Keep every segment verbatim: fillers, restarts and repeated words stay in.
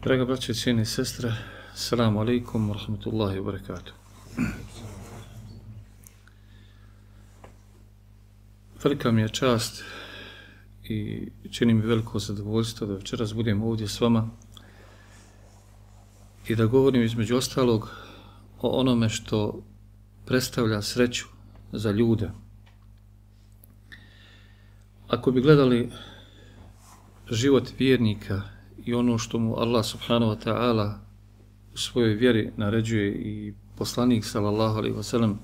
Draga braće i cijene sestre, assalamu alaikum wa rahmatullahi wa barakatuh. Velika mi je čast i čini mi veliko zadovoljstvo da večeras budem ovdje s vama i da govorim između ostalog o onome što predstavlja sreću za ljude. Ako bi gledali život vjernika i ono što mu Allah subhanahu wa ta'ala u svojoj vjeri naređuje i poslanik sallallahu alejhi ve sellem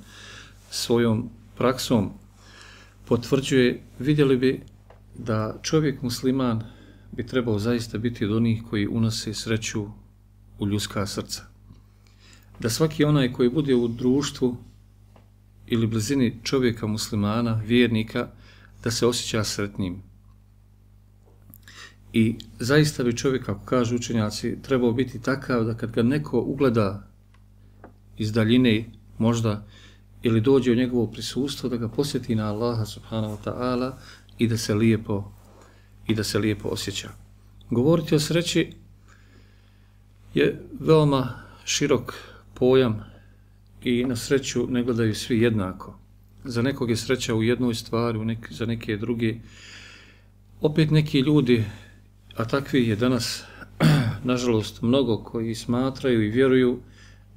svojom praksom potvrđuje, vidjeli bi da čovjek musliman bi trebao zaista biti od onih koji unose sreću u ljudska srca. Da svaki onaj koji bude u društvu ili blizini čovjeka muslimana, vjernika, da se osjeća sretnim. I zaista bi čovjek, kako kažu učenjaci, trebao biti takav da kad ga neko ugleda iz daljine možda ili dođe u njegovo prisustvo, da ga posjeti na Allaha subhanahu wa ta'ala i da se lijepo i da se lijepo osjeća. Govoriti o sreći je veoma širok pojam i na sreću ne gledaju svi jednako. Za nekog je sreća u jednoj stvari, u nek, za neke druge. Opet neki ljudi, a takvi je danas, nažalost, mnogo koji smatraju i vjeruju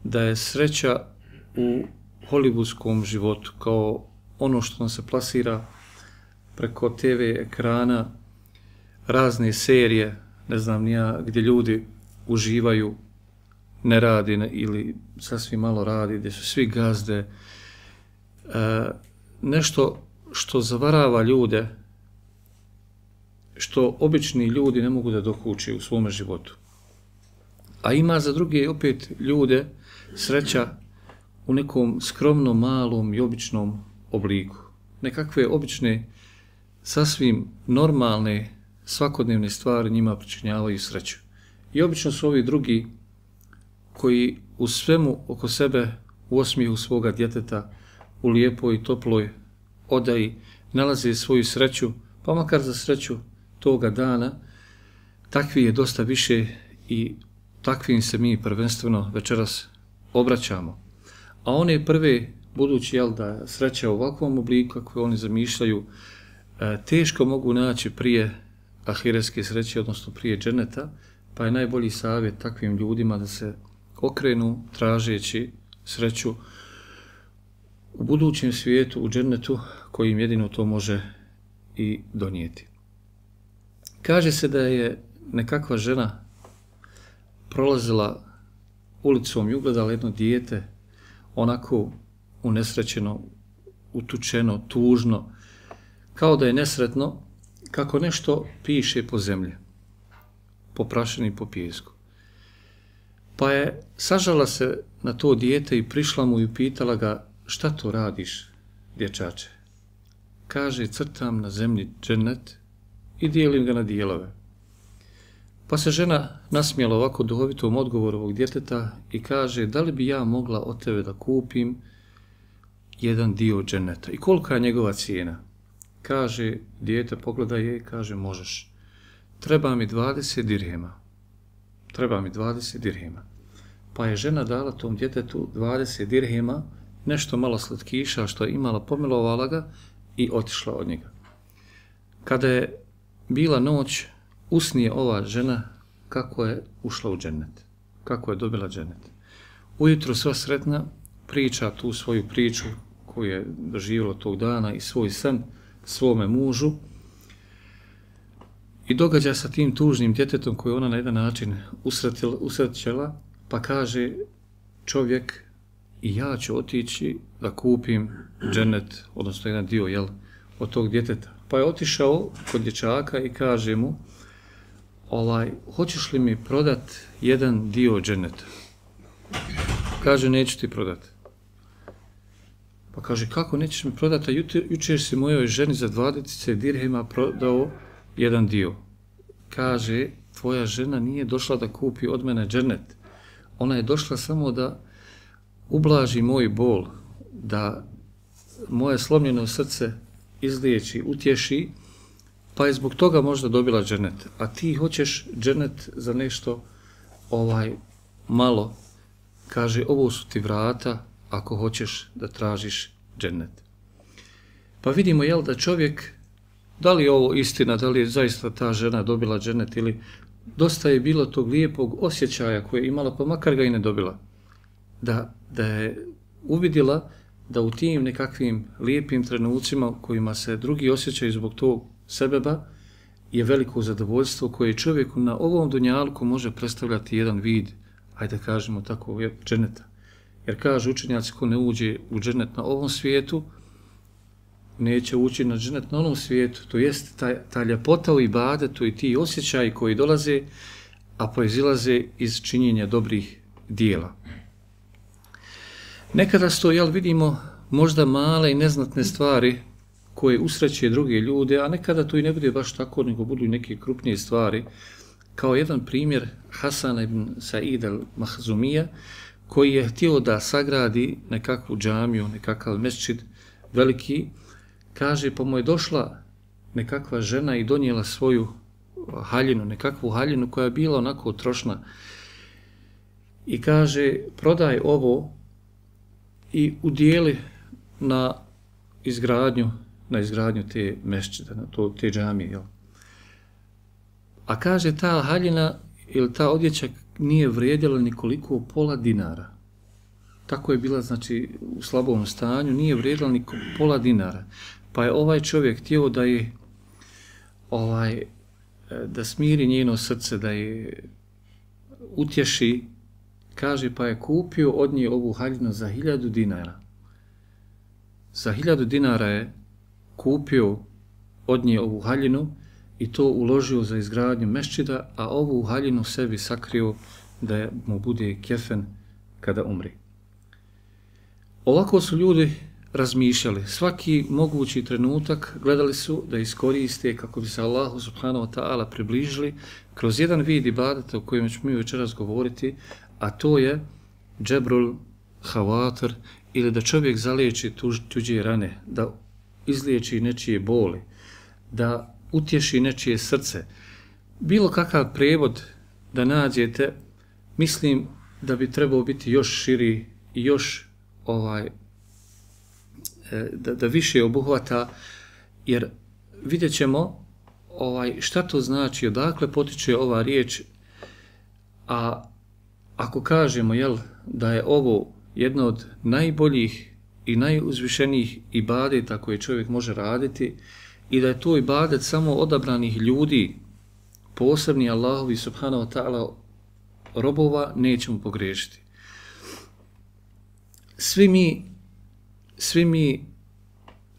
da je sreća u hollywoodskom životu, kao ono što nam se plasira preko te ve ekrana, razne serije, ne znam nija, gdje ljudi uživaju, ne radi ne, ili sasvim malo radi, gdje su svi gazde, e, nešto što zavarava ljude, što obični ljudi ne mogu da dokuče u svome životu. A ima za druge opet ljude sreća u nekom skromnom, malom i običnom obliku. Nekakve obične, sasvim normalne, svakodnevne stvari njima pričinjavaju sreću. I obično su ovi drugi koji u svemu oko sebe u osmijehu svoga djeteta, u lijepoj i toploj odaji nalaze svoju sreću, pa makar za sreću toga dana, takvi je dosta više i takvim se mi prvenstveno večeras obraćamo. A one prve, budući jel, da sreća u ovakvom obliku kako oni zamišljaju, teško mogu naći prije ahiretske sreće, odnosno prije dženeta, pa je najbolji savjet takvim ljudima da se okrenu tražeći sreću u budućem svijetu, u džennetu, koji im jedino to može i donijeti. Kaže se da je nekakva žena prolazila ulicom i ugledala jedno dijete, onako unesrećeno, utučeno, tužno, kao da je nesretno, kako nešto piše po zemlji, po prašini i po pijesku. Pa je sažala se na to dijete i prišla mu i pitala ga, šta to radiš, dječače? Kaže, crtam na zemlji džennet i dijelim ga na dijelove. Pa se žena nasmijala ovako duhovitom odgovoru ovog djeteta i kaže, da li bi ja mogla od tebe da kupim jedan dio dženneta? I kolika je njegova cijena? Kaže, dijete pogleda je i kaže, možeš. Treba mi dvadeset dirhema. Treba mi dvadeset dirhema. Pa je žena dala tom djetetu dvadeset dirhema, nešto malo slatkiša što je imala, pomilovala ga i otišla od njega. Kada je bila noć, usnije ova žena kako je ušla u džennet, kako je dobila džennet. Ujutro sva sretna priča tu svoju priču koju je doživjela tog dana i svoj san svome mužu i događa sa tim tužnim djetetom koju ona na jedan način usrećela, pa kaže čovjek, i ja ću otići da kupim džennet, odnosno jedan dio jel, od tog djeteta. Pa je otišao kod dječaka i kaže mu, ovaj, hoćeš li mi prodat jedan dio dženeta? Kaže, neću ti prodat. Pa kaže, kako nećeš mi prodati, a jučer, jučer si mojoj ženi za dvadeset dirhema prodao jedan dio. Kaže, tvoja žena nije došla da kupi od mene dženet. Ona je došla samo da ublaži moj bol, da moje slomljeno srce izliječi, utješi, pa je zbog toga možda dobila dženet. A ti hoćeš dženet za nešto ovaj malo, kaže, ovo su ti vrata ako hoćeš da tražiš džennet. Pa vidimo, jel, da čovjek, da li je ovo istina, da li je zaista ta žena dobila džennet ili dosta je bilo tog lijepog osjećaja koje je imala, pa makar ga i ne dobila. Da, da je uvidjela da u tim nekakvim lijepim trenucima u kojima se drugi osjećaju zbog tog sebeba je veliko zadovoljstvo koje čovjeku na ovom dunjalku može predstavljati jedan vid, ajde da kažemo tako, dženeta. Jer kaže učenjaci, ko ne uđe u dženet na ovom svijetu, neće ući na dženet na onom svijetu. To jest ta, ta ljepota u ibadetu i ti osjećaji koji dolaze, a proizilaze iz činjenja dobrih dijela. Nekada sto, jel, vidimo možda male i neznatne stvari koje usreće druge ljude, a nekada to i ne bude baš tako, nego budu i neke krupnije stvari. Kao jedan primjer Hasana ibn Said al-Mahzumija, koji je htio da sagradi nekakvu džamiju, nekakav mesdžid veliki, kaže, pa mu je došla nekakva žena i donijela svoju haljinu, nekakvu haljinu koja je bila onako trošna. I kaže, prodaj ovo i udijeli na izgradnju, na izgradnju te mesdžida, na to, te džamije. Jel? A kaže, ta haljina ili ta odjeća nije vrijedila nikoliko pola dinara. Tako je bila, znači, u slabom stanju, nije vrijedila niko pola dinara. Pa je ovaj čovjek htio da je ovaj, da smiri njeno srce, da je utješi, kaže, pa je kupio od nje ovu haljinu za hiljadu dinara. Za hiljadu dinara je kupio od nje ovu haljinu i to uložio za izgradnju mesdžida, a ovu haljinu sebi sakrio da mu bude kefen kada umri. Ovako su ljudi razmišljali. Svaki mogući trenutak gledali su da iskoriste kako bi se Allahu subhanahu wa ta'ala približili kroz jedan vid ibadeta o kojem ćemo mi večeras govoriti, a to je džebrul havatir, ili da čovjek zaliječi tuž, tuđe rane, da izliječi nečije boli, da utješi nečije srce. Bilo kakav prevod da nađete, mislim da bi trebao biti još širi i još ovaj, da, da više obuhvata, jer vidjet ćemo ovaj, šta to znači, odakle potiče ova riječ, a ako kažemo, jel, da je ovo jedno od najboljih i najuzvišenijih ibadeta koje čovjek može raditi i da je to ibadet samo odabranih ljudi, posebni Allahovi subhanahu wa ta'ala robova, nećemo pogriješiti. Svi mi, svi mi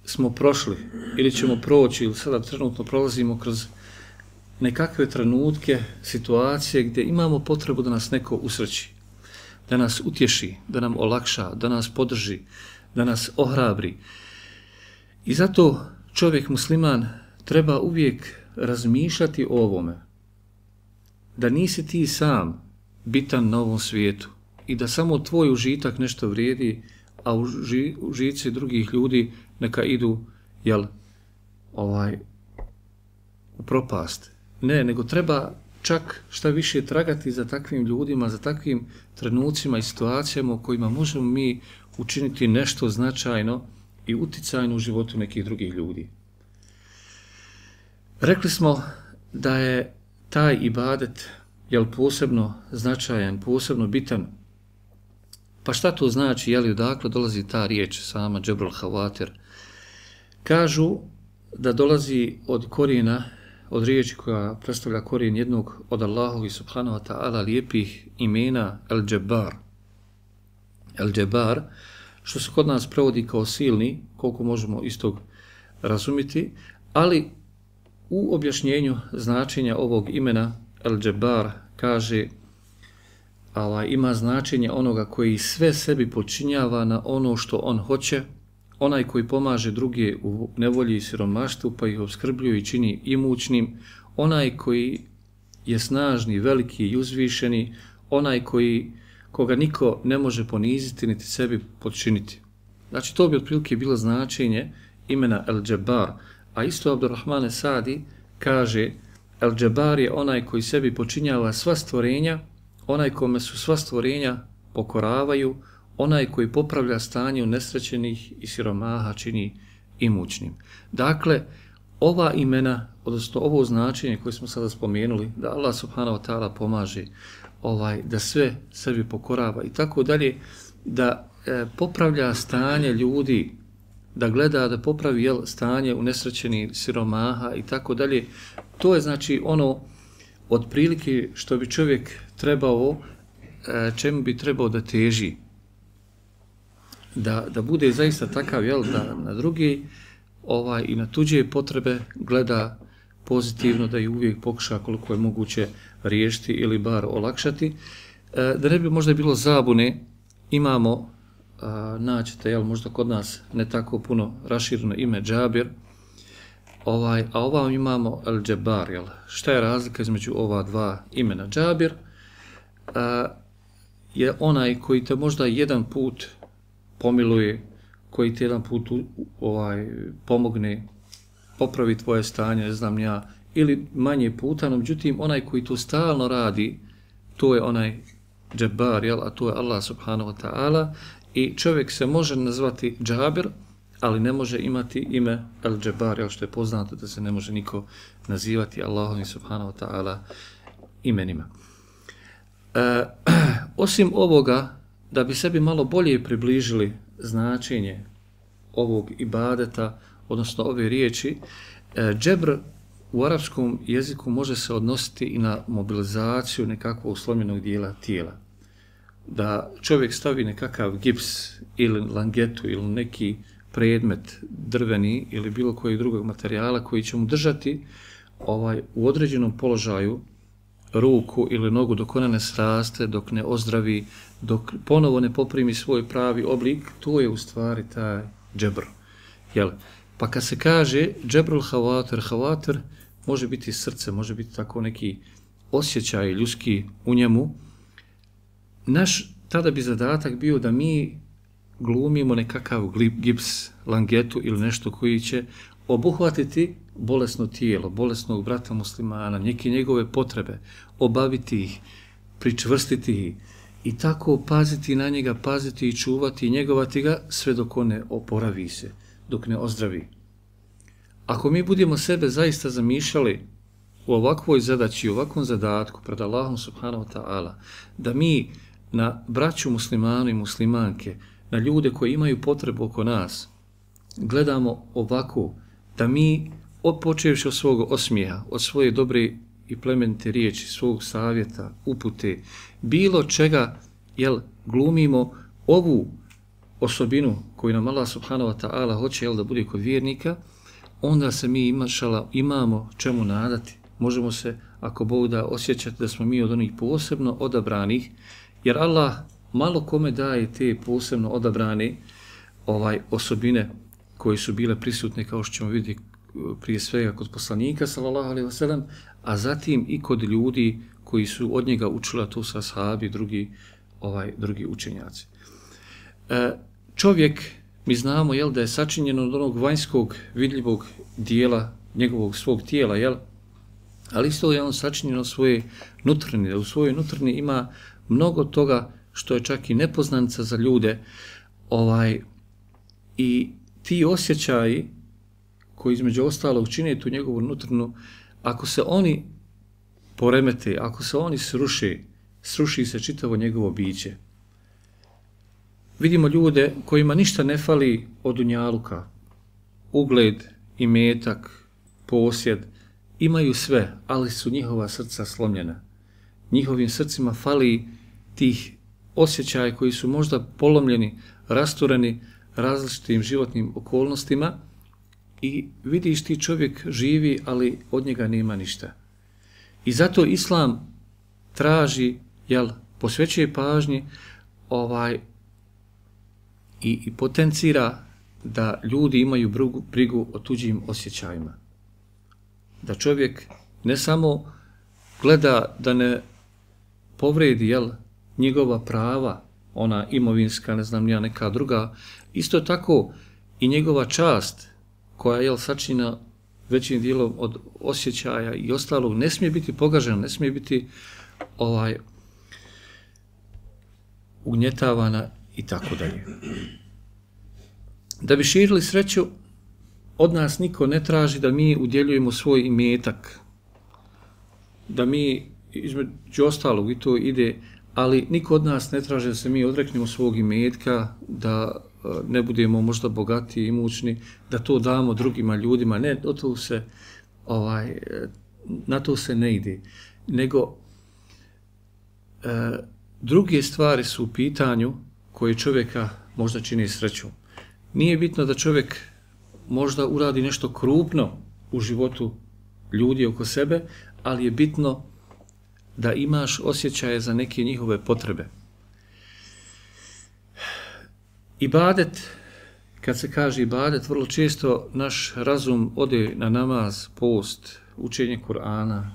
smo prošli ili ćemo proći ili sada trenutno prolazimo kroz nekakve trenutke, situacije gdje imamo potrebu da nas neko usreći, da nas utješi, da nam olakša, da nas podrži, da nas ohrabri. I zato čovjek musliman treba uvijek razmišljati o ovome, da nisi ti sam bitan na ovom svijetu i da samo tvoj užitak nešto vrijedi, a uži, užici drugih ljudi neka idu, jel, ovaj, u propast. Ne, nego treba čak šta više tragati za takvim ljudima, za takvim trenucima i situacijama u kojima možemo mi učiniti nešto značajno i uticajno u životu nekih drugih ljudi. Rekli smo da je taj ibadet, jel, posebno značajan, posebno bitan. Pa šta to znači, jel, odakle dolazi ta riječ sama džebrul havatir? Kažu da dolazi od korijena, od riječi koja predstavlja korijen jednog od Allahovi subhanahu wa ta'ala lijepih imena El-Džebar. El-Džebar, što se kod nas prevodi kao silni, koliko možemo istog razumjeti, ali u objašnjenju značenja ovog imena El-Džebar kaže, ovaj, ima značenje onoga koji sve sebi počinjava na ono što on hoće, onaj koji pomaže druge u nevolji i siromaštvu pa ih obskrbljuje i čini imućnim, onaj koji je snažni, veliki i uzvišeni, onaj koji, koga niko ne može poniziti niti sebi podčiniti. Znači to bi otprilike bilo značenje imena El-Džebar, a isto Abdurrahmane Sadi kaže El-Džebar je onaj koji sebi počinjava sva stvorenja onaj kome su sva stvorenja pokoravaju, onaj koji popravlja stanje unesrećenih i siromaha čini imućnim. Dakle, ova imena, odnosno ovo značenje koje smo sada spomenuli, da Allah subhanahu wa ta'ala pomaže, ovaj, da sve sebi pokorava i tako dalje, da e, popravlja stanje ljudi, da gleda da popravi jel, stanje unesrećenih siromaha i tako dalje, to je znači ono otprilike što bi čovjek trebao, e, čemu bi trebao da teži. Da, da bude zaista takav, jel, da na drugi ovaj, i na tuđe potrebe gleda pozitivno, da ih uvijek pokuša koliko je moguće riješiti ili bar olakšati. E, da ne bi možda bilo zabune, imamo, a, naćete, jel, možda kod nas ne tako puno rašireno ime Džabir, ovaj, a ovam imamo El-Džebar, jel? Šta je razlika između ova dva imena? Džabir a, je onaj koji te možda jedan put pomiluje, koji ti jedan put ovaj, pomogne, popravi tvoje stanje, ne znam ja, ili manje puta, no međutim, onaj koji to stalno radi, to je onaj Džebar, jel, a to je Allah subhanahu wa ta'ala, i čovjek se može nazvati Džabir, ali ne može imati ime El-Džebar, jel, što je poznato da se ne može niko nazivati Allahom subhanahu wa ta'ala imenima. E, osim ovoga, da bi sebi malo bolje približili značenje ovog ibadeta, odnosno ove riječi, džebr u arapskom jeziku može se odnositi i na mobilizaciju nekakvog slomljenog dijela tijela. Da čovjek stavi nekakav gips ili langetu ili neki predmet drveni ili bilo kojeg drugog materijala koji će mu držati ovaj, u određenom položaju ruku ili nogu dok ona ne sraste, dok ne ozdravi, dok ponovo ne poprimi svoj pravi oblik, to je u stvari taj džebr. Jel? Pa kad se kaže džebrul havater, havater može biti srce, može biti tako neki osjećaj ljudski u njemu. Naš tada bi zadatak bio da mi glumimo nekakav gips, langetu ili nešto koji će obuhvatiti bolesno tijelo, bolesnog brata muslimana, neke njegove potrebe, obaviti ih, pričvrstiti ih i tako paziti na njega, paziti i čuvati i njegovati ga sve dok on ne oporavi se, dok ne ozdravi. Ako mi budemo sebe zaista zamišljali u ovakvoj zadaći, u ovakvom zadatku pred Allahom subhanahu wa ta'ala, da mi na braću muslimanu i muslimanke, na ljude koji imaju potrebu oko nas, gledamo ovako, da mi, počevši od svog osmijeha, od svoje dobre i plemenite riječi, svog savjeta, upute, bilo čega, jel, glumimo ovu osobinu koju nam Allah subhanahu wa ta'ala hoće, jel, da bude kod vjernika, onda se mi imašala, imamo čemu nadati. Možemo se, ako Bog da, osjećati da smo mi od onih posebno odabranih, jer Allah malo kome daje te posebno odabrane ovaj, osobine koje su bile prisutne, kao što ćemo vidjeti prije svega kod poslanika, sallallahu alejhi ve sellem, a zatim i kod ljudi koji su od njega učili, a to su ashabi, drugi, ovaj, drugi učenjaci. E, čovjek, mi znamo, jel, da je sačinjen od onog vanjskog vidljivog dijela njegovog svog tijela, jel, ali isto je on sačinjen od svoje nutrine, da u svojoj nutrini ima mnogo toga što je čak i nepoznanica za ljude, ovaj, i ti osjećaji koji između ostalog čine tu njegovu nutrinu, ako se oni poremete, ako se oni sruše, sruši se čitavo njegovo biće. Vidimo ljude kojima ništa ne fali od dunjaluka, ugled, imetak, posjed, imaju sve, ali su njihova srca slomljena. Njihovim srcima fali tih osjećaja koji su možda polomljeni, rastureni različitim životnim okolnostima i vidiš ti čovjek živi, ali od njega nema ništa. I zato Islam traži, jel, posvećuje pažnji ovaj, i, i potencira da ljudi imaju brigu, brigu o tuđim osjećajima. Da čovjek ne samo gleda da ne povredi, jel, njegova prava, ona imovinska, ne znam ja, neka druga, isto tako i njegova čast, koja je, jel, sačinjena većim dijelom od osjećaja i ostalog, ne smije biti pogažena, ne smije biti ovaj, ugnjetavana i tako dalje. Da bi širili sreću, od nas niko ne traži da mi udjeljujemo svoj imetak, da mi između ostalog i to ide, ali niko od nas ne traži da se mi odreknemo svog imetka, da ne budemo možda bogati i imućni, da to damo drugima ljudima, ne, o to se, ovaj, na to se ne ide, nego e, druge stvari su u pitanju koje čovjeka možda čini sreću. Nije bitno da čovjek možda uradi nešto krupno u životu ljudi oko sebe, ali je bitno da imaš osjećaje za neke njihove potrebe. Ibadet, kad se kaže ibadet, vrlo često naš razum ode na namaz, post, učenje Kur'ana,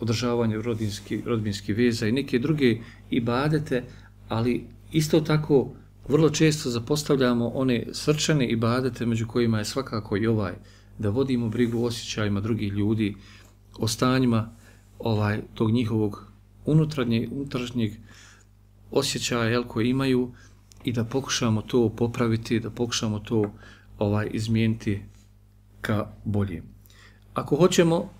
održavanje rodinskih rodbinskih veza i neke druge ibadete, ali isto tako vrlo često zapostavljamo one srčane ibadete, među kojima je svakako i ovaj, da vodimo brigu o osjećajima drugih ljudi, o stanjima ovaj, tog njihovog unutrašnjeg, unutrašnjeg osjećaja jel, koje imaju i da pokušamo to popraviti, da pokušamo to ovaj, izmijeniti ka bolje. Ako hoćemo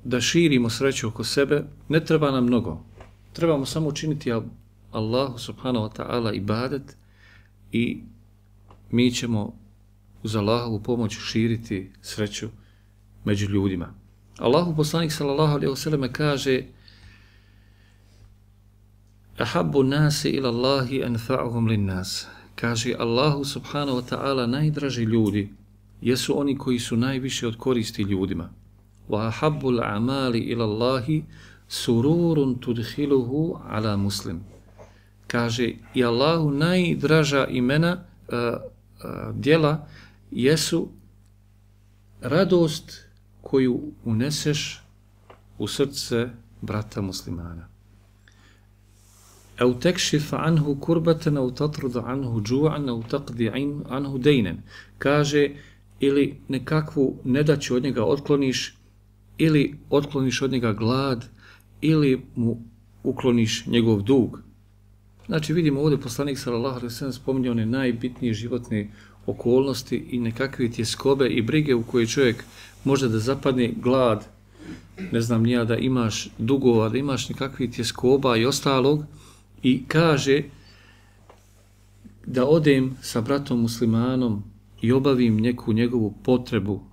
da širimo sreću oko sebe, ne treba nam mnogo. Trebamo samo učiniti Allahu subhanahu wa ta'ala ibadet i mi ćemo uz Allahovu pomoć širiti sreću među ljudima. Allahu poslanik sallallahu alejhi ve sellem kaže: Ahabbu nasi ila Allahi anfa'uhum lin-nas. Kaže Allahu subhanahu wa ta'ala, najdraži ljudi jesu oni koji su najviše od koristi ljudima. Wa ahabbu al-a'mali ila Allahi sururun tudkhiluhu ala muslim. Kaže i Allahu najdraža imena uh, uh, djela jesu radost koju uneseš u srce brata muslimana. Au tekšif anhu kurbatan, au tatrud anhu džu'an, au taqdi anhu dejnen. Kaže, ili nekakvu nedaću od njega otkloniš, ili otkloniš od njega glad, ili mu ukloniš njegov dug. Znači vidimo ovdje poslanik sallallahu alejhi ve sellem spominje one najbitnije životne okolnosti i nekakve tjeskobe i brige u koje čovjek može da zapadne, glad, ne znam nija, da imaš dugova, da imaš nekakve tjeskoba i ostalog, i kaže da odem sa bratom muslimanom i obavim neku njegovu potrebu.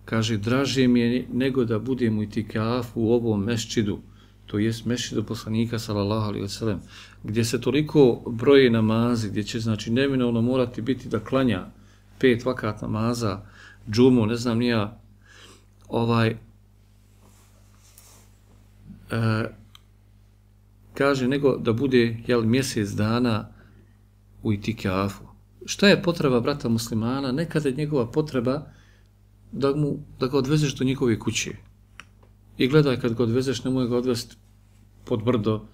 Kaže, draže mi je nego da budem u itikafu u ovom meščidu, to jest meščidu poslanika sallallahu alejhi ve sellem, gdje se toliko broje namazi, gdje će znači neminovno morati biti da klanja pet vakat namaza, džumu, ne znam nija, ovaj, e, kaže, nego da bude jel, mjesec dana u itikafu. Šta je potreba brata muslimana? Nekada je njegova potreba da, mu, da ga odvezeš do njegove kuće. I gledaj, kad ga odvezeš, nemoj ga odvesti pod brdo,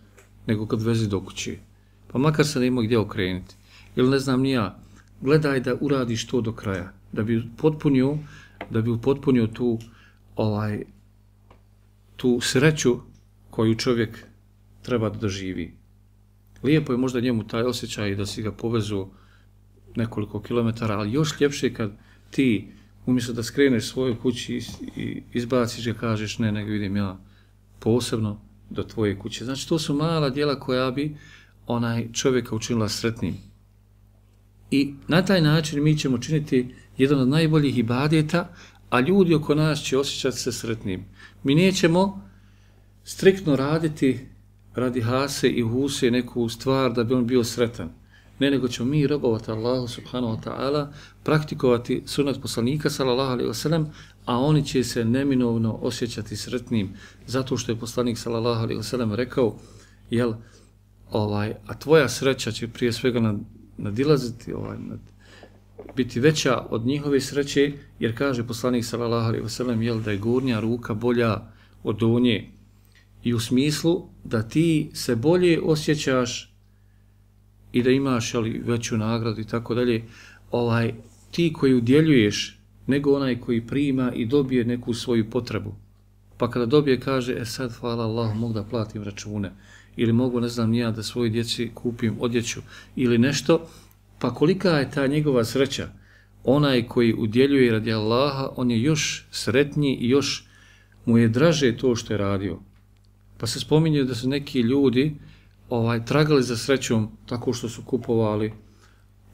nego kad odvezi do kuće. Pa makar se ne ima gdje okrenuti. Ili ne znam ni ja, gledaj da uradiš to do kraja. Da bi potpunio, da bi upotpunio tu, ovaj, tu sreću koju čovjek treba da doživi. Lijepo je možda njemu taj osjećaj da si ga povezu nekoliko kilometara, ali još ljepše kad ti umjesto da skreneš svoju kući i izbaciš ga, kažeš ne, nego vidim ja posebno do tvoje kuće. Znači to su mala djela koja bi onaj čovjeka učinila sretnim. I na taj način mi ćemo činiti jedan od najboljih ibadeta, a ljudi oko nas će osjećati se sretnim. Mi nećemo striktno raditi radi hase i huse neku stvar da bi on bio sretan. Ne, nego ćemo mi robovati Allahu subhanahu wa ta'ala, praktikovati sunnet poslanika sallallahu alejhi ve sellem, a oni će se neminovno osjećati sretnim, zato što je poslanik sallallahu alejhi ve sellem rekao, jel, ovaj, a tvoja sreća će prije svega nadilaziti, ovaj, nad, biti veća od njihove sreće, jer kaže poslanik sallallahu alejhi ve sellem, jel, da je gornja ruka bolja od donje, i u smislu da ti se bolje osjećaš i da imaš ali, veću nagradu i tako dalje, ovaj, ti koji udjeljuješ nego onaj koji prima i dobije neku svoju potrebu. pa kada dobije kaže, e sad hvala Allahu, mogu da platim račune, ili mogu, ne znam, ja da svojoj djeci kupim odjeću, ili nešto, pa kolika je ta njegova sreća? Onaj koji udjeljuje radi Allaha, on je još sretniji i još mu je draže to što je radio. Pa se spominju da su neki ljudi ovaj, tragali za srećom tako što su kupovali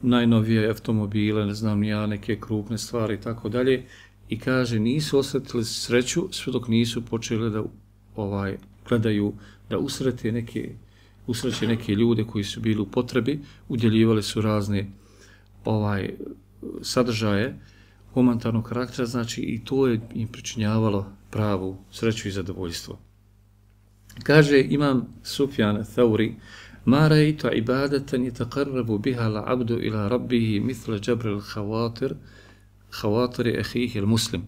najnovije automobile, ne znam ja, neke krupne stvari i tako dalje. I kaže, nisu osjetili sreću sve dok nisu počeli da ovaj, gledaju, da usrete neke, usreće neke ljude koji su bili u potrebi, udjeljivali su razne ovaj, sadržaje humanitarnog karaktera, znači i to je im pričinjavalo pravu sreću i zadovoljstvo. Kaže imam Sufjan Thauri, ma raitu ibadatan yataqarrabu biha al-'abdu ila rabbih mithla jabr al-khawatir khawatir akhihi al-muslim.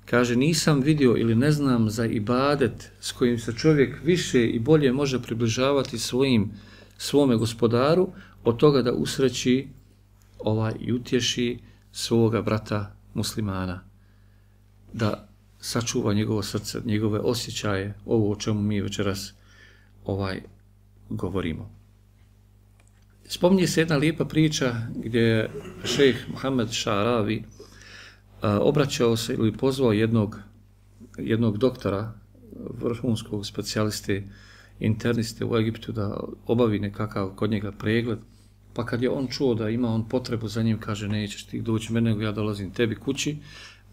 Kaže, nisam vidio ili ne znam za ibadet s kojim se čovjek više i bolje može približavati svojim, svome gospodaru od toga da usreći ovaj, i utješi svoga brata muslimana. Da sačuva njegovo srce, njegove osjećaje, ovo o čemu mi večeras ovaj, govorimo. Spominje se jedna lijepa priča gdje je šejh Muhammed Ša'ravi a, obraćao se ili pozvao jednog, jednog doktora, vrhunskog specijaliste, interniste u Egiptu da obavi nekakav kod njega pregled. Pa kad je on čuo da ima on potrebu za njim, kaže, nećeš ti doći mene, nego ja dolazim tebi kući.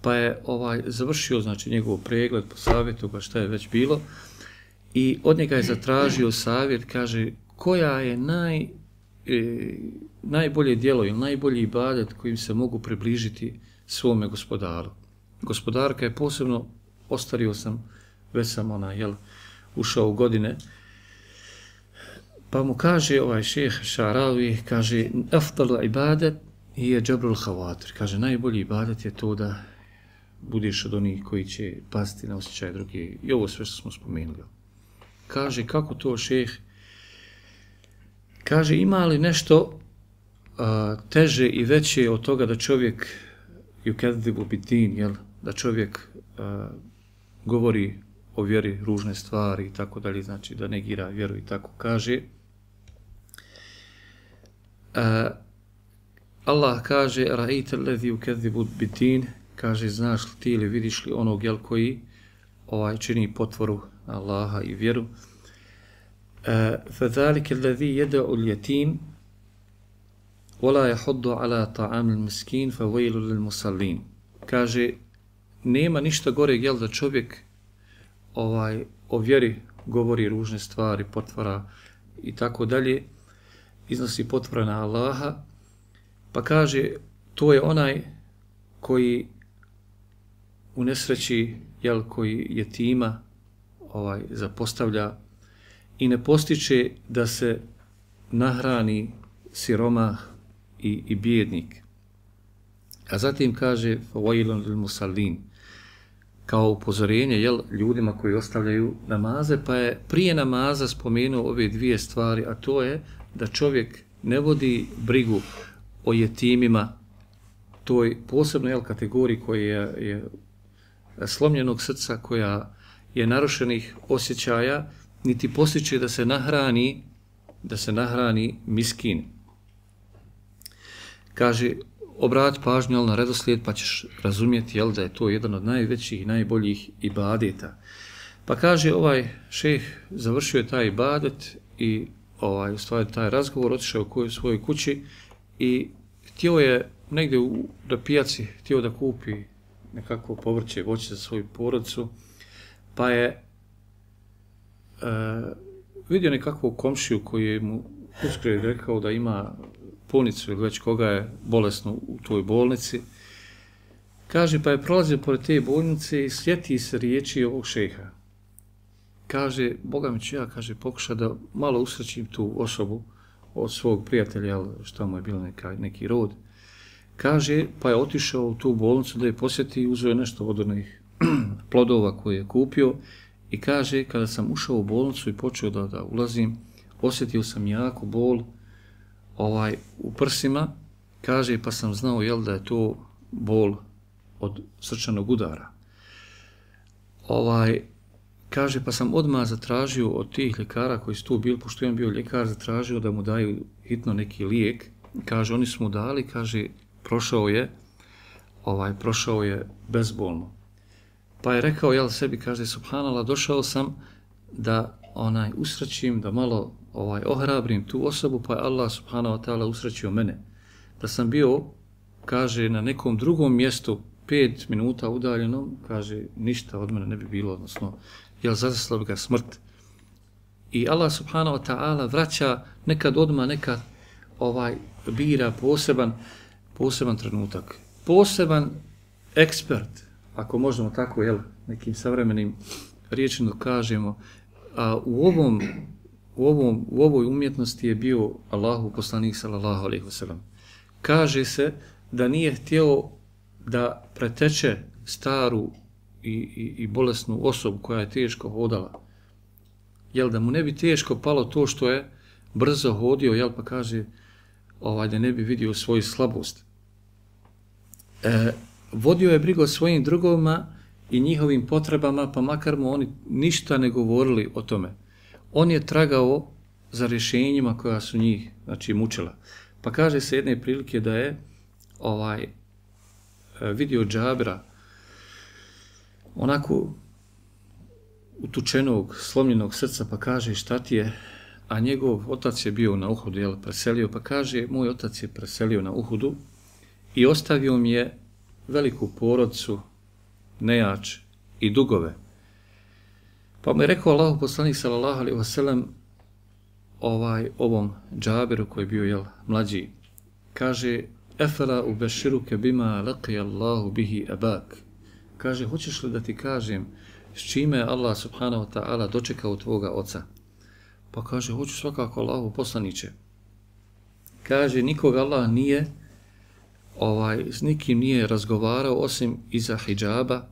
Pa je ovaj završio znači njegov pregled, po savjetu ga šta je već bilo i od njega je zatražio savjet, kaže, koja je naj, e, najbolje djelo ili najbolji ibadet kojim se mogu približiti svome gospodaru. Gospodarka je posebno, ostario sam, već sam ona, jel, ušao u godine, pa mu kaže ovaj šejh Ša'ravi, kaže, afdalu ibadet je džabrul havatir, kaže, najbolji ibadet je to da budeš od onih koji će pasti na osjećaj drugi. I ovo sve što smo spomenuli. Kaže, kako to šejh? Kaže, ima li nešto a, teže i veće od toga da čovjek yukadibu bidin, jel, da čovjek a, govori o vjeri ružne stvari i tako dalje, znači da negira vjeru i tako kaže. A, Allah kaže, ra'ite alladhi yukadibu bidin, kaže, znaš li ti ili vidiš li onog, jel, koji ovaj, čini potvoru Allaha i vjeru. فَذَلِكَ الَّذِي يَدَعُ الْيَتِيمِ وَلَا يَحُضُّ عَلَى طَعَامِ الْمِسْكِينِ فَوَيْلُ لِلْمُسَلِّينَ. Kaže, nema ništa gore, jel, da čovjek ovaj, o vjeri govori ružne stvari, potvora i tako dalje, iznosi potvora na Allaha, pa kaže, to je onaj koji u nesreći, jel, koji jetima ovaj, zapostavlja i ne postiče da se nahrani siromah i, i bijednik. A zatim kaže fawailun lil musallin, kao upozorenje, jel, ljudima koji ostavljaju namaze, pa je prije namaza spomenuo ove dvije stvari, a to je da čovjek ne vodi brigu o jetimima, toj posebnoj, jel, kategoriji koja je, je slomljenog srca, koja je narušenih osjećaja, niti postiče da se nahrani, da se nahrani miskin. Kaže, obrat pažnju, jel, na redoslijed, pa ćeš razumjeti, jel, da je to jedan od najvećih i najboljih ibadeta. Pa kaže, ovaj šejh završio je taj ibadet i ovaj, u stvari taj razgovor, otišao u svojoj kući i htio je negdje u, na pijaci, htio da kupi nekako povrće, voće za svoju porodicu, pa je Uh, vidio nekakvog komšiju koji je mu uskoro rekao da ima punicu ili već koga je bolesno u toj bolnici. Kaže, pa je prolazio pored te bolnice i sjeti se riječi ovog šejha. Kaže, Boga mi ću ja, kaže, pokuša da malo usrećim tu osobu od svog prijatelja, što mu je bilo neka, neki rod. Kaže, pa je otišao u tu bolnicu da je posjeti i uzeo nešto od onih plodova koje je kupio. I kaže, kada sam ušao u bolnicu i počeo da, da ulazim, osjetio sam jako bol ovaj, u prsima, kaže, pa sam znao, jel, da je to bol od srčanog udara. ovaj, kaže, pa sam odmah zatražio od tih ljekara koji su tu bili, pošto je on bio ljekar, zatražio da mu daju hitno neki lijek. Kaže, oni su mu dali, kaže, prošao je, ovaj, prošao je bezbolno. Pa je rekao, jel sebi, kaže, subhanallah, došao sam da onaj usrećim, da malo ovaj ohrabrim tu osobu, pa je Allah subhanahu wa ta'ala usrećio mene. Da sam bio, kaže, na nekom drugom mjestu, pet minuta udaljeno, kaže, ništa od mene ne bi bilo, odnosno, jel zadesila bi ga smrt. I Allah subhanahu wa ta'ala vraća nekad odmah, nekad ovaj bira poseban, poseban trenutak. Poseban ekspert, ako možemo tako, jel, nekim savremenim riječima kažemo, a u ovom, u ovom, u ovoj umjetnosti je bio Allahu poslanik sallallahu alejhi ve sellem. Kaže se da nije htio da preteče staru i, i, i bolesnu osobu koja je teško hodala. Jel, da mu ne bi teško palo to što je brzo hodio, jel, pa kaže ovaj, da ne bi vidio svoju slabost. E, vodio je brigu o svojim drugovima i njihovim potrebama, pa makar mu oni ništa ne govorili o tome. On je tragao za rješenjima koja su njih, znači, mučila. Pa kaže se jedne prilike da je ovaj vidio Džabira onako utučenog, slomljenog srca, pa kaže, šta ti je? A njegov otac je bio na Uhudu, jel, preselio, pa kaže, moj otac je preselio na Uhudu i ostavio mi je veliku porodcu, nejač i dugove. Pa mu je rekao Allahu poslanik sallallahu alejhi ve sellem ovaj ovom Džabiru koji je bio, jel, mlađi, kaže, efela ubeshiruke bima laqi Allahu bihi abak. Kaže, hoćeš li da ti kažem s čime je Allah subhanahu wa ta'ala dočekao tvoga oca? Pa kaže, hoću svakako, Allahu poslaniće. Kaže, nikog Allah nije ovaj, s nikim nije razgovarao osim iza hidžaba,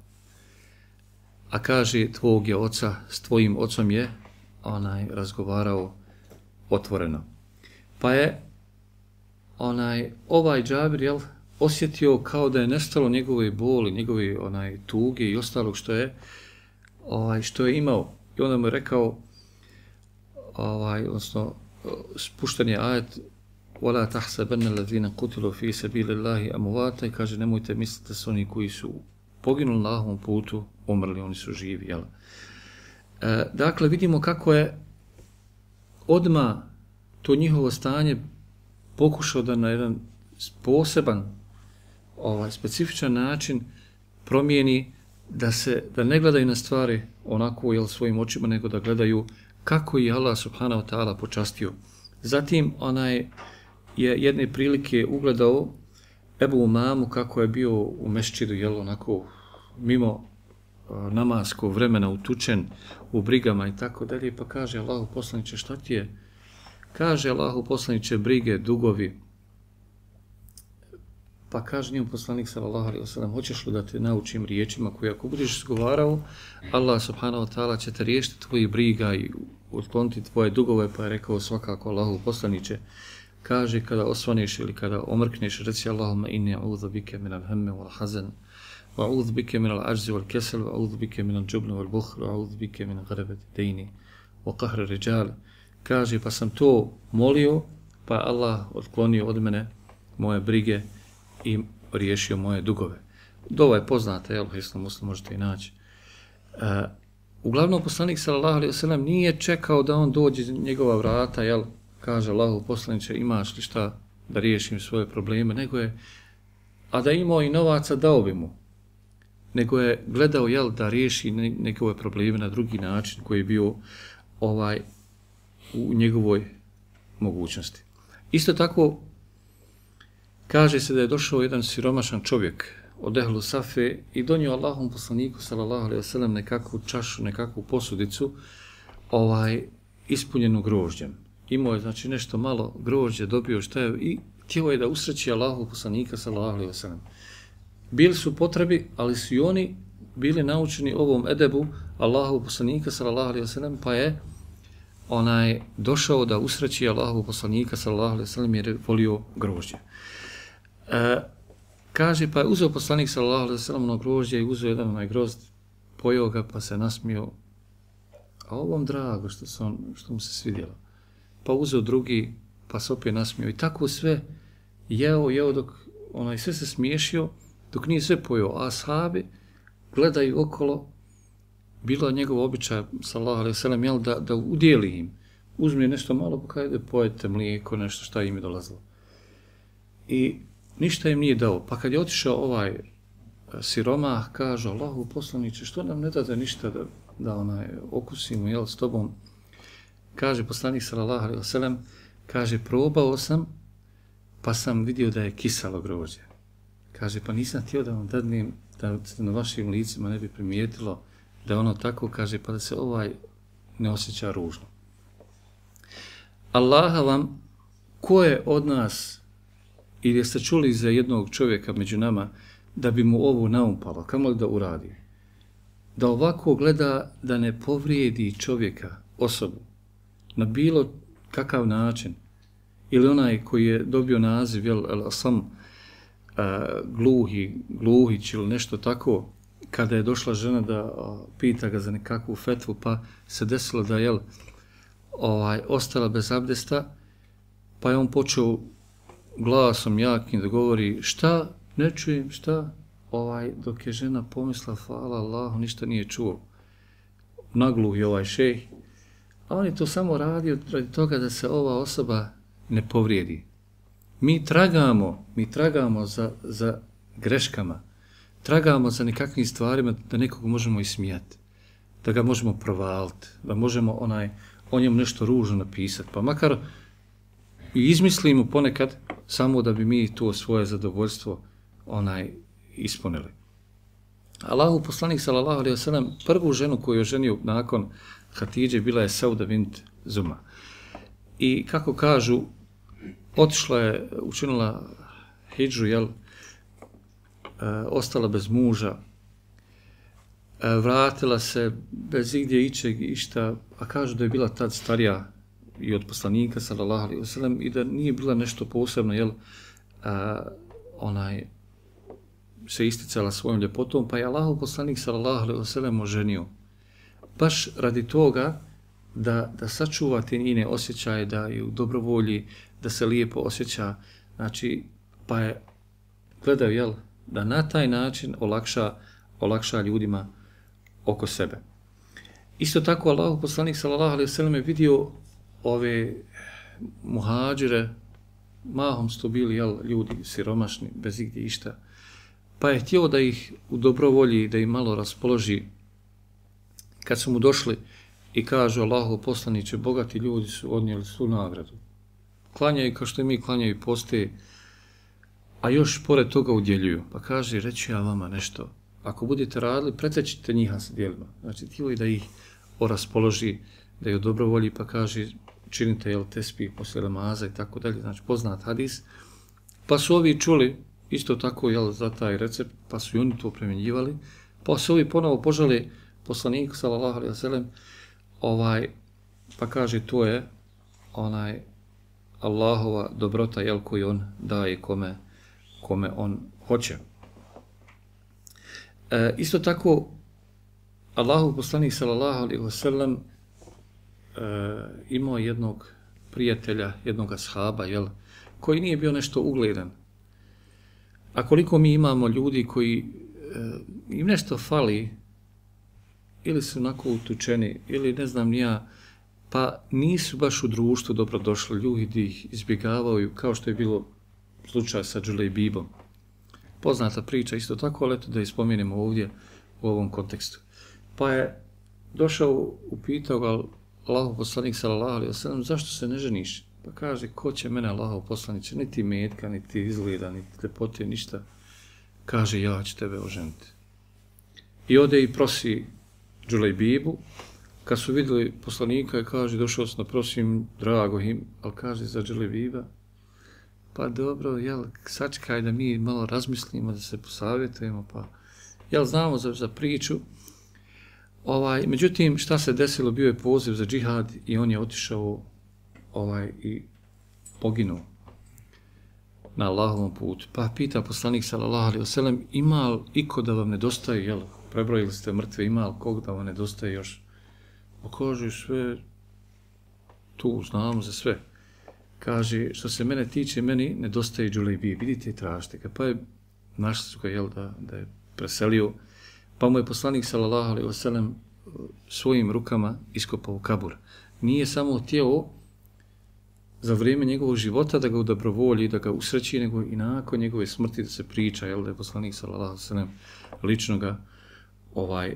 a kaže, tvog je oca, s tvojim ocom je onaj razgovarao otvoreno. Pa je onaj ovaj Džabir, jel, osjetio kao da je nestalo njegove boli, njegove onaj tuge i ostalog što je ovaj što je imao. I onda mu je rekao, ovaj, odnosno spušten je ajet وَلَا تَحْسَبَنَّ الَّذِينَ قُتِلُوا فِي سَبِيلِ اللَّهِ أَمْوَاتًا, i kaže, nemojte misliti da su oni koji su poginuli na Allahovom putu umrli, oni su živi, jel? E, dakle, vidimo kako je odmah to njihovo stanje pokušao da na jedan poseban, ovaj, specifičan način promijeni, da se da ne gledaju na stvari onako, jel, svojim očima, nego da gledaju kako je Allah subhanahu wa ta'ala počastio. Zatim onaj je jedne prilike ugledao Ebu Umamu kako je bio u mešćidu, jel, onako mimo namaskog vremena utučen u brigama i tako dalje, pa kaže Allahu poslaniče, šta ti je? Kaže Allahu poslaniče, brige, dugovi. Pa kaže njemu poslanik sallallahu alejhi ve sellem, hoćeš li da te naučim riječima koje ako budeš izgovarao, Allah subhanahu wa ta'ala će te riješiti tvojih briga i otkloniti tvoje dugove, pa je rekao svakako Allahu poslaniče. Kaže, kada osvaneš ili kada omrkneš, reci Allahumma inni a'udhu bike min al-hamme wal hazan, wa a'udhu bike min al-ajzi wal kesel, wa a'udhu bike min al-jubni wal bukhl, wa a'udhu bike min ghalabati dejni, wa qahri rijal. Kaže, pa sam to molio, pa Allah otklonio od mene moje brige i riješio moje dugove. Dova je poznata, jel, Hisnu Muslim možete i naći. E, uglavnom, poslanik sallallahu alejhi ve sellem nije čekao da on dođe njegova vrata, jel, kaže Allahu poslaniče, imaš li šta da riješim svoje probleme, nego je, a da imao i novaca, dao bi mu. Nego je gledao, jel, da riješi njegove probleme na drugi način koji je bio ovaj u njegovoj mogućnosti. Isto tako, kaže se da je došao jedan siromašan čovjek od Ehlu Safe i donio Allahom poslaniku sallallahu alejhi ve sellem nekakvu čašu, nekakvu posudicu ovaj ispunjenu grožđem. Imao je, znači, nešto malo grožđe, dobio šta je i htio je da usreći Allahu poslanika sallallahu alejhi ve sellem. Bili su potrebi, ali su i oni bili naučeni ovom edebu Allahu poslanika sallallahu alejhi ve sellem, pa je onaj došao da usreći Allahu poslanika sallallahu alejhi ve sellem jer je volio grožđe. E, kaže, pa je uzeo poslanik sallallahu alejhi ve sellem ono grožđe i uzeo jedan onaj grozd pojeo ga pa se nasmio, a ovom drago što, se on, što mu se svidjelo. Pa uzeo drugi, pa se opet nasmio. I tako sve jeo, jeo dok onaj sve se smiješio, dok nije sve pojeo. A ashabi gledaju okolo, bilo je njegov običaj, sallallahu alejhi ve sellem, jel, da, da udjeli im. Uzme nešto malo, pa kada pojete mlijeko, nešto šta im je dolazilo. I ništa im nije dao. Pa kad je otišao ovaj siromah, kaže, Allahu poslaniče, što nam ne dade ništa da, da onaj, okusimo, jel, s tobom? Kaže poslanik sallallahu alejhi ve sellem, kaže, probao sam, pa sam vidio da je kisalo grožđe. Kaže, pa nisam htio da vam dadnem, da se na vašim licima ne bi primijetilo da je ono tako, kaže, pa da se ovaj ne osjeća ružno. Allaha vam, ko je od nas, ili jeste čuli za jednog čovjeka među nama, da bi mu ovo naumpalo, kamo li da uradi? Da ovako gleda da ne povrijedi čovjeka, osobu, na bilo kakav način, ili onaj koji je dobio naziv, jel, sam a, gluhi, gluhić ili nešto tako, kada je došla žena da a, pita ga za nekakvu fetvu, pa se desilo da je ovaj, ostala bez abdesta, pa je on počeo glasom jakim da govori šta, ne čujem, šta, ovaj, dok je žena pomisla, hvala Allahu, ništa nije čuo. Nagluh je ovaj šejh, a on je to samo radio radi toga da se ova osoba ne povrijedi. Mi tragamo, mi tragamo za, za greškama, tragamo za nekakvim stvarima da nekog možemo ismijati, da ga možemo provaliti, da možemo onaj, o njemu nešto ružno napisati, pa makar i izmislimo ponekad samo da bi mi to svoje zadovoljstvo onaj ispunili. Allahu poslanik sallallahu alejhi ve sellem prvu ženu koju je ženio nakon Hatidže bila je Sauda bint Zuma. I kako kažu, otišla je, učinila hidžu, jel, e, ostala bez muža, e, vratila se bez igdje ičeg išta, a kažu da je bila tad starija i od poslanika sallallahu alejhi ve sellem i da nije bila nešto posebno, jel, a, onaj se isticala svojom ljepotom, pa je Allahov poslanik sallallahu alejhi ve sellem oženio. Baš radi toga da, da sačuva te njene osjećaje, da je u dobrovolji, da se lijepo osjeća, znači, pa je gledao, jel, da na taj način olakša, olakša ljudima oko sebe. Isto tako Allahov poslanik sallallahu alejhi ve sellem je vidio ove muhađire, mahom su to bili, jel, ljudi siromašni, bez igdje išta, pa je htio da ih u dobrovolji, da ih malo raspoloži. Kad su mu došli i kažu, Allahov poslaniče, bogati ljudi su odnijeli svu nagradu. Klanjaju kao što i mi klanjaju i poste, a još pored toga udjeljuju. Pa kaže, reći ja vama nešto, ako budete radili, pretečite njiha sa dijelima. Znači, htio da ih raspoloži, da je u dobrovolji, pa kaže, činite, jel, tesbih poslije namaza i tako dalje, znači poznat hadis. Pa su ovi čuli isto tako, jel, za taj recept, pa su i oni to primjenjivali, pa su ovi ponovo požali poslaniku sallallahu alejhi ve sellem, ovaj, pa kaže, to je onaj Allahova dobrota, jel, koju on daje kome, kome on hoće. E, isto tako, Allahov poslanik sallallahu alejhi ve sellem e, imao jednog prijatelja, jednog ashaba, jel, koji nije bio nešto ugledan. A koliko mi imamo ljudi koji e, im nešto fali, ili su onako utučeni, ili ne znam nija, pa nisu baš u društvu dobro došli, ljudi ih izbjegavaju, kao što je bilo slučaj sa Džulejbibom. Poznata priča isto tako, ali eto da ispomenemo ovdje u ovom kontekstu. Pa je došao, upitao ga Allahov poslanik sallallahu alejhi ve sellem, zašto se ne ženiš? Pa kaže, ko će mene Allahov poslaniče, niti metka, niti izgleda, niti ljepote, ništa. Kaže, ja ću tebe oženiti. I ode i prosi Džulejbibu. Kad su vidjeli poslanika, kaže, došao sam da prosim, drago im, ali kaže za Džulejbiba, pa dobro, jel, sačekaj da mi malo razmislimo, da se posavjetujemo, pa, jel, znamo za, za priču. Ovaj, međutim, šta se desilo, bio je poziv za džihad i on je otišao ovaj, i poginuo na Allahovom putu. Pa pita poslanik sallallahu alejhi ve sellem, ima li iko da vam nedostaje, jel, prebrojili ste mrtve, ima li kog da vam nedostaje još? Pa kaže, sve tu, znamo za sve. Kaže, što se mene tiče, meni nedostaje Džulejbije, vidite i tražite ga. Pa je, našli su ga, jel, da, da je preselio, pa mu je poslanik, sallallahu alejhi ve sellem, svojim rukama iskopao kabur. Nije samo htjeo za vrijeme njegovog života da ga udobrovolji, da ga usreći, nego i nakon njegove smrti da se priča, jel, da je poslanik, sallallahu alejhi ve sellem, lično ga ovaj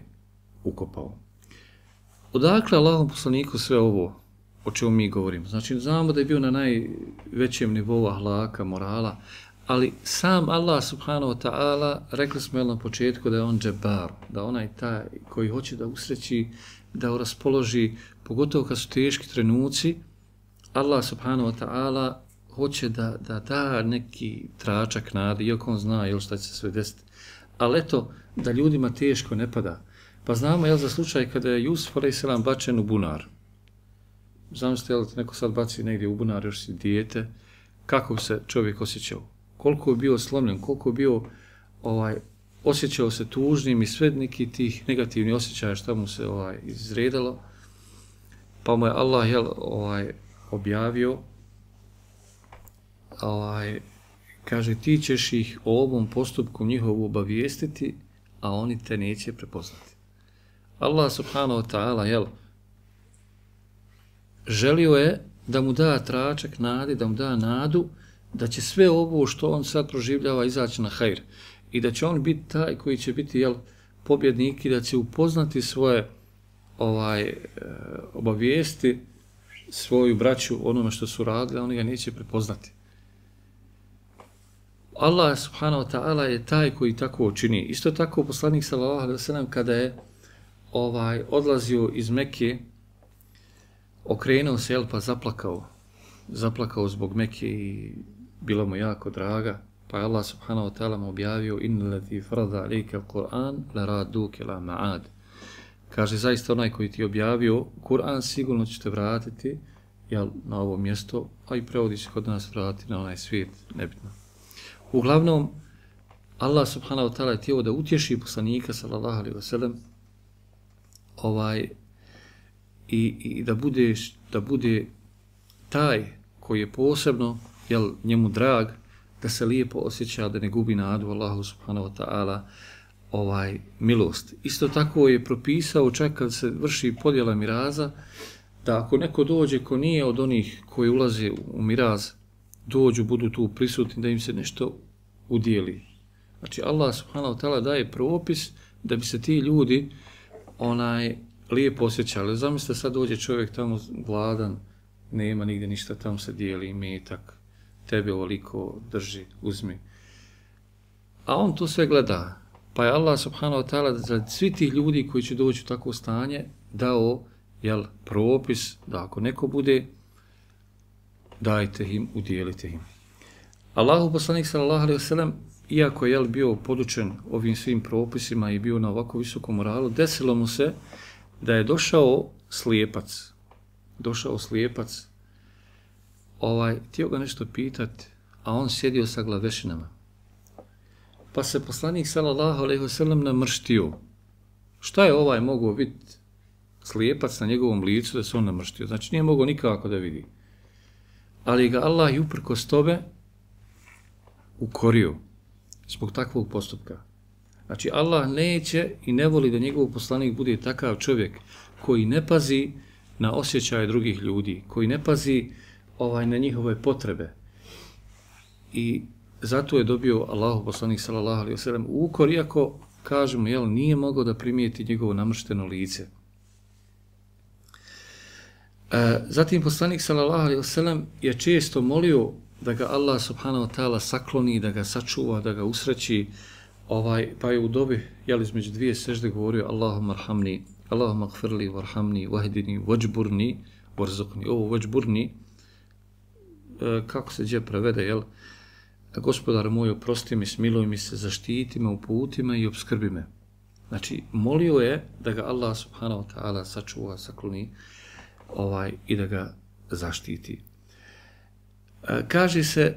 ukopao. Odakle Allahom poslaniku sve ovo o čemu mi govorimo? Znači, znamo da je bio na najvećem nivou ahlaka, morala, ali sam Allah subhanahu wa ta'ala, rekli smo jel na početku da je on džebar, da onaj taj koji hoće da usreći, da raspoloži, pogotovo kad su teški trenuci, Allah subhanahu wa ta'ala hoće da, da da neki tračak nade, iako on zna jel šta će se sve desiti. Ali eto, da ljudima teško ne pada. Pa znamo jel za slučaj kada je Jusuf alejhi selam bačen u bunar. Zamislite jel neko sad baci negdje u bunar, još si dijete, kako bi se čovjek osjećao? Koliko je bio slomljen, koliko je bio ovaj, osjećao se tužnim i sve neki tih negativnih osjećaja što mu se ovaj, izredalo. Pa mu je Allah jel, ovaj, objavio, ovaj, kaže, ti ćeš ih o ovom postupku njihovu obavijestiti, a oni te neće prepoznati. Allah subhanahu wa ta'ala, jel, želio je da mu da tračak nade, da mu da nadu, da će sve ovo što on sad proživljava izaći na hajr. I da će on biti taj koji će biti, jel, pobjednik i da će upoznati svoje ovaj, obavijesti, svoju braću onome što su radili, a oni ga neće prepoznati. Allah subhanahu wa ta'ala je taj koji tako čini. Isto tako poslanik sallallahu alejhi ve sellem kada je ovaj odlazio iz Mekke, okrenuo se jel, pa zaplakao. Zaplakao zbog Mekke i bilo mu jako draga. Pa je Allah subhanahu wa ta'ala mu objavio inna lati farada alejka al-Qur'an la raduka ila ma'ad. Kaže, zaista onaj koji ti objavio Kur'an sigurno će te vratiti jel, na ovo mjesto, a i prevodi se kod nas vratiti na onaj svijet, nebitno. Uglavnom, Allah subhanahu wa ta'ala je htio da utješi poslanika sallallahu alejhi ve sellem ovaj, i, i da, bude, da bude taj koji je posebno jel, njemu drag, da se lijepo osjeća, da ne gubi nadu Allahu subhanahu wa ta'ala ovaj milost. Isto tako je propisao čak kad se vrši podjela miraza, da ako neko dođe ko nije od onih koji ulaze u miraz, dođu, budu tu prisutni, da im se nešto udijeli. Znači Allah subhanahu wa ta'ala daje propis da bi se ti ljudi onaj lijepo osjećali. Zamislite sad dođe čovjek tamo gladan, nema nigdje ništa, tamo se dijeli imetak, tebe ovoliko drži, uzmi. A on to sve gleda. Pa je Allah subhanahu wa ta'ala za svi tih ljudi koji će doći u takvo stanje dao jel, propis da ako neko bude, dajte im, udijelite im. Allahu poslanik sallallahu alejhi ve sellem, iako je jel, bio podučen ovim svim propisima i bio na ovako visokom moralu, desilo mu se da je došao slijepac. Došao slijepac, ovaj, htio ga nešto pitati, a on sjedio sa glavešinama. Pa se poslanik sallallahu alejhi ve sellem namrštio. Šta je ovaj mogao vidjeti slijepac na njegovom licu da se on namrštio? Znači nije mogao nikako da vidi. Ali ga Allah i uprkos tome ukorio zbog takvog postupka. Znači Allah neće i ne voli da njegov poslanik bude takav čovjek koji ne pazi na osjećaje drugih ljudi, koji ne pazi ovaj, na njihove potrebe. I zato je dobio Allahu poslanik sallallahu alejhi ve sellem ukor, iako kažemo jel nije mogao da primijeti njegovo namršteno lice. E, zatim poslanik sallallahu alejhi ve sellem je često molio da ga Allah subhanahu wa ta'ala sakloni, da ga sačuva, da ga usreći, ovaj, pa je u dobi jel između dvije sežde govorio Allahumma arhamni, Allahumma gfirli warhamni wahdini wajburni warzuqni. Ovo wajburni e, kako se gdje prevede, jel? Gospodar moj, oprosti mi, smiluj mi se, zaštiti me u putima i obskrbi me. Znači, molio je da ga Allah subhanahu wa ta'ala sačuva, sakloni ovaj, i da ga zaštiti. E, kaže se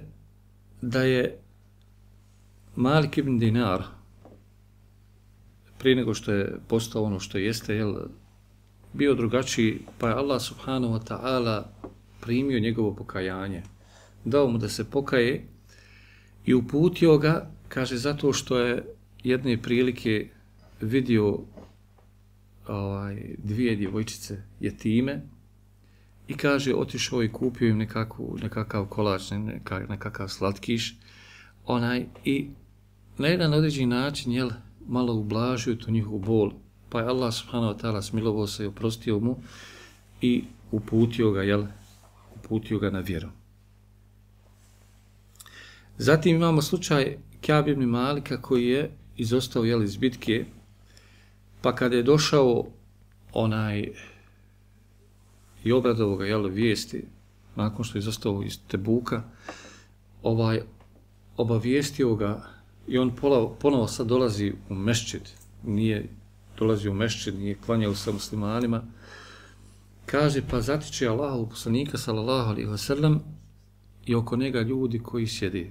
da je Malik ibn Dinar prije nego što je postao ono što jeste, jel, bio drugačiji, pa je Allah subhanahu wa ta'ala primio njegovo pokajanje. Dao mu da se pokaje i uputio ga, kaže, zato što je jedne prilike vidio ovaj, dvije djevojčice jetime i kaže, otišao i kupio im nekakvu, nekakav kolač, nekakav, nekakav slatkiš, onaj, i na jedan određeni način, jel, malo ublažio tu njihovu bol, pa je Allah subhanahu wa ta'ala smilovao se i oprostio mu i uputio ga, jel, uputio ga na vjeru. Zatim imamo slučaj Ka'b ibn Malika koji je izostao, jel, iz bitke, pa kada je došao onaj i obradovao ga, jel, vijesti, nakon što je izostao iz Tebuka, ovaj, obavijestio ga i on ponovo sad dolazi u mešćid, nije dolazi u mešćid, nije klanjao sa muslimanima, kaže, pa zatiče Allahu poslanika sallallahu alejhi ve sellem i oko njega ljudi koji sjede.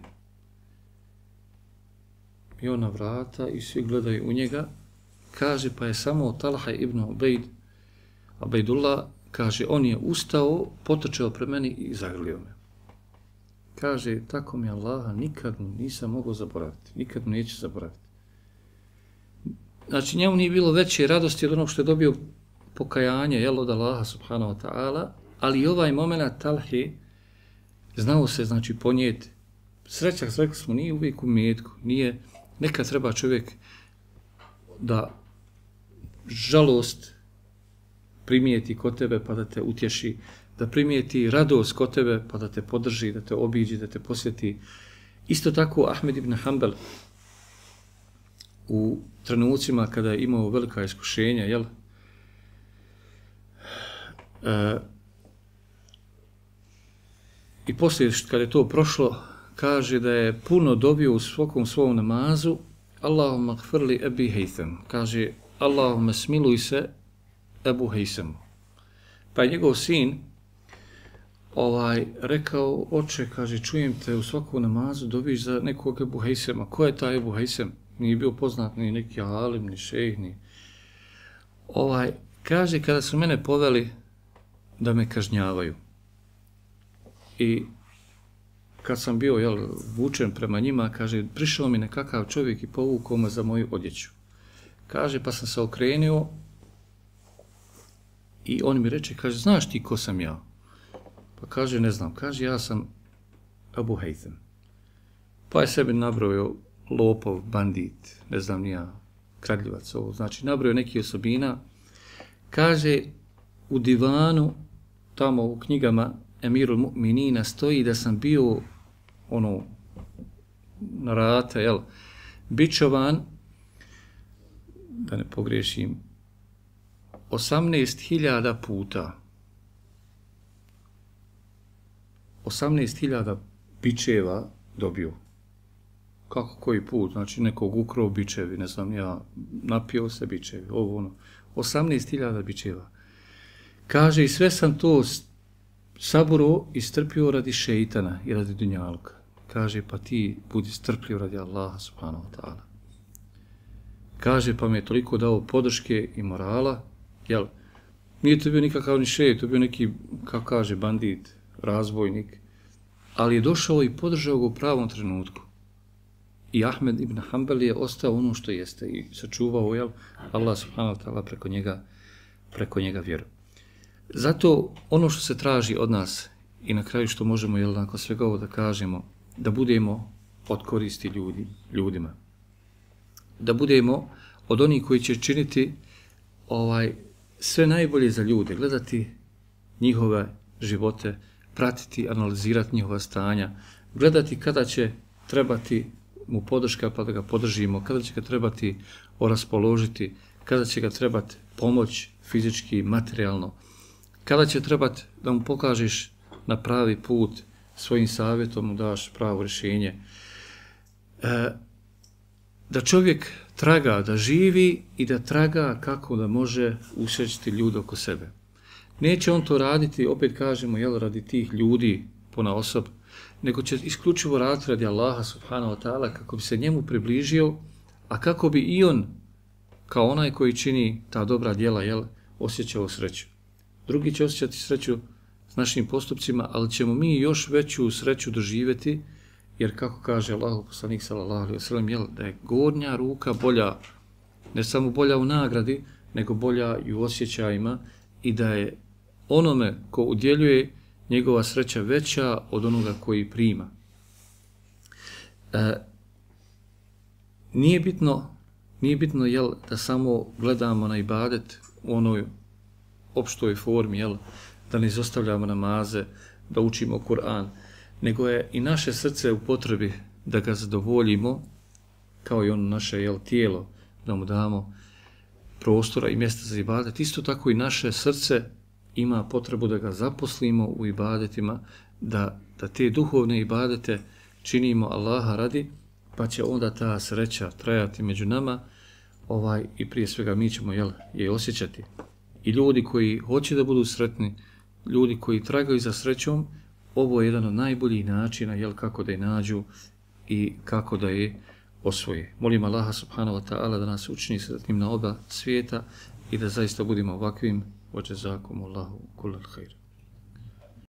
I on na vrata i svi gledaju u njega, kaže, pa je samo Talha ibn Ubejd, Ubejdullah, kaže, on je ustao, potrčao pre meni i zagrlio me. Kaže, tako mi Allaha, nikad mu nisam mogao zaboraviti, nikad mu neću zaboraviti. Znači, njemu nije bilo veće radosti od onog što je dobio pokajanje, jel, od Allaha subhanahu wa ta'ala, ali i ovaj moment Talhe znao se, znači, ponijeti. Sreća, rekli smo, nije uvijek u metku, nije, nekad treba čovjek da žalost primijeti kod tebe pa da te utješi, da primijeti radost kod tebe pa da te podrži, da te obiđi, da te posjeti. Isto tako Ahmed ibn Hanbal u trenucima kada je imao velika iskušenja, jel? E, I poslije kada je to prošlo, kaže da je puno dobio u svakom svom namazu Allahumma gfirli Ebi Hejtham. Kaže, Allahumma smiluj se Ebu Hejsamu. Pa je njegov sin ovaj, rekao, oče, kaže, čujem te u svakom namazu dobiš za nekog Ebu Hejsama. Ko je taj Ebu Hejsam? Nije bio poznat ni neki alim, ni šejh, ni... Ovaj, kaže, kada su mene poveli da me kažnjavaju i kad sam bio, jel, vučen prema njima, kaže, prišao mi nekakav čovjek i povukao me za moju odjeću. Kaže, pa sam se okrenio i on mi reče, kaže, znaš ti ko sam ja? Pa kaže, ne znam. Kaže, ja sam Ebu Hejtham. Pa je sebi nabrojio lopov, bandit, ne znam ni ja, kradljivac, ovo. Znači, nabrojio neki osobina. Kaže, u divanu, tamo u knjigama Emirul Mu'minina stoji da sam bio ono, na rata, jel, bičovan, da ne pogriješim, osamnaest hiljada puta. osamnaest hiljada bičeva dobio. Kako koji put? Znači nekog ukrao bičevi, ne znam, ja napio se bičevi, ovo ono. osamnaest hiljada bičeva. Kaže, i sve sam to saburo i strpio radi šeitana i radi dunjalka. Kaže, pa ti budi strpljiv radi Allaha subhanahu wa ta'ala. Kaže, pa mi je toliko dao podrške i morala, jel, nije to bio nikakav ni šeit, to bio neki, kako kaže, bandit, razbojnik, ali je došao i podržao ga u pravom trenutku. I Ahmed ibn Hanbal je ostao ono što jeste i sačuvao, jel, Allah subhanahu wa ta'ala preko njega, preko njega vjeru. Zato ono što se traži od nas i na kraju što možemo, jel, nakon svega ovo da kažemo, da budemo od koristi ljudi, ljudima. Da budemo od onih koji će činiti ovaj, sve najbolje za ljude, gledati njihove živote, pratiti, analizirati njihova stanja, gledati kada će trebati mu podrška pa da ga podržimo, kada će ga trebati oraspoložiti, kada će ga trebati pomoć fizički, materijalno, kada će trebati da mu pokažeš na pravi put, svojim savjetom mu daš pravo rješenje. E, da čovjek traga, da živi i da traga kako da može usrećiti ljude oko sebe. Neće on to raditi, opet kažemo, jel, radi tih ljudi pona osob, nego će isključivo raditi radi Allaha subhanahu wa ta'ala kako bi se njemu približio, a kako bi i on kao onaj koji čini ta dobra djela, jel, osjećao sreću. Drugi će osjećati sreću s našim postupcima, ali ćemo mi još veću sreću doživjeti, jer kako kaže Allahu poslanik sallallahu alejhi ve sellem, jel, da je gornja ruka bolja, ne samo bolja u nagradi, nego bolja i u osjećajima, i da je onome ko udjeljuje njegova sreća veća od onoga koji prima. E, nije bitno, nije bitno jel, da samo gledamo na ibadet u onoj opštoj formi, jel, da ne izostavljamo namaze, da učimo Kur'an, nego je i naše srce u potrebi da ga zadovoljimo, kao i ono naše jel, tijelo, da mu damo prostora i mjesta za ibadet. Isto tako i naše srce ima potrebu da ga zaposlimo u ibadetima, da, da te duhovne ibadete činimo Allaha radi, pa će onda ta sreća trajati među nama, ovaj, i prije svega mi ćemo jel, je osjećati. I ljudi koji hoće da budu sretni, ljudi koji tragaju za srećom, ovo je jedan od najboljih načina jel, kako da je nađu i kako da je osvoje. Molim Allaha subhanahu wa ta'ala da nas učini sretnim na oba svijeta i da zaista budemo ovakvim. Wa jazakumullahu kullal khair.